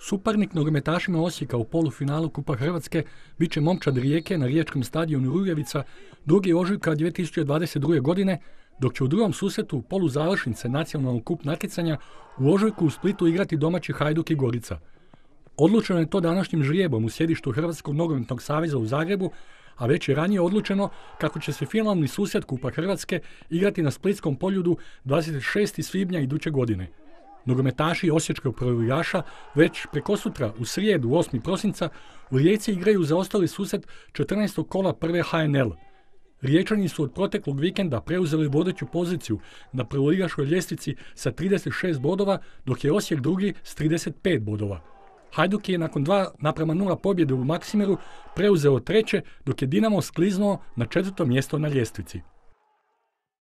Suparnik nogometašima Osijeka u polufinalu Kupa Hrvatske bit će Momčad Rijeke na riječkom stadionu Rujevica 2. ožujka 2022. godine, dok će u drugom susretu poluzavršnice nacionalnog kup natjecanja u ožujku u Splitu igrati domaći Hajduk i Gorica. Odlučeno je to današnjim žrijebom u sjedištu Hrvatskog nogometnog saveza u Zagrebu, a već je ranije odlučeno kako će se finalni susret Kupa Hrvatske igrati na splitskom Poljudu 26. svibnja iduće godine. Nogometaši osječkog prvoligaša već prekosutra u srijedu 8. prosinca u Rijeci igraju za ostali susret 14. kola prve HNL. Riječani su od proteklog vikenda preuzeli vodeću poziciju na prvoligaškoj ljestvici sa 36 bodova, dok je Osijek drugi s 35 bodova. Hajduk je nakon 2:0 pobjede u Maksimiru preuzeo treće, dok je Dinamo skliznuo na 4. mjesto na ljestvici.